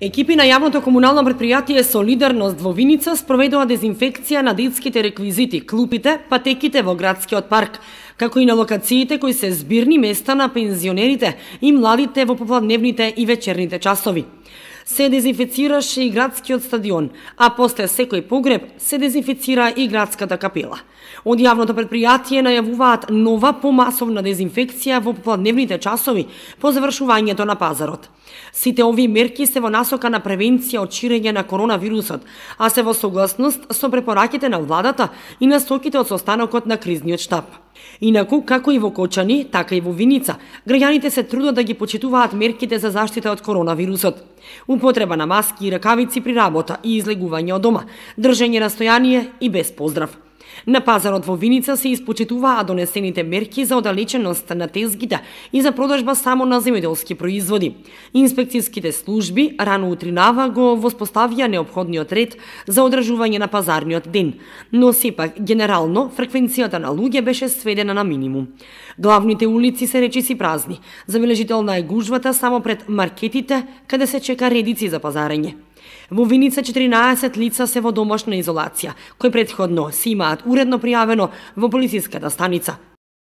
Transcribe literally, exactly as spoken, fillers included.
Екипи на јавното комунално претпријатие Солидарност во Виница спроведува дезинфекција на детските реквизити, клупите, патеките во градскиот парк, како и на локациите кои се збирни места на пензионерите и младите во попладневните и вечерните часови. Се дезинфицираше и градскиот стадион, а после секој погреб се дезинфицира и градската капела. Од јавното претпријатие најавуваат нова помасовна дезинфекција во попладневните часови по завршувањето на пазарот. Сите овие мерки се во насока на превенција од ширење на коронавирусот, а се во согласност со препораките на владата и насоките од состанокот на кризниот штаб. Инаку, како и во Кочани, така и во Виница, граѓаните се трудат да ги почитуваат мерките за заштита од коронавирусот. Употреба на маски и ракавици при работа и излегување од дома, држење настојание и без поздрав. На пазарот во Виница се испочитуваа донесените мерки за оддалеченост на тезгите и за продажба само на земјоделски производи. Инспекцијските служби рано утринава го воспоставија неопходниот ред за одржување на пазарниот ден, но сепак генерално фреквенцијата на луѓе беше сведена на минимум. Главните улици се речиси празни. Забележителна е гужвата само пред маркетите, каде се чека редици за пазарење. Во Виница четиринаесет лица се во домашна изолација, кои претходно се имаат уредно пријавено во полициската станица.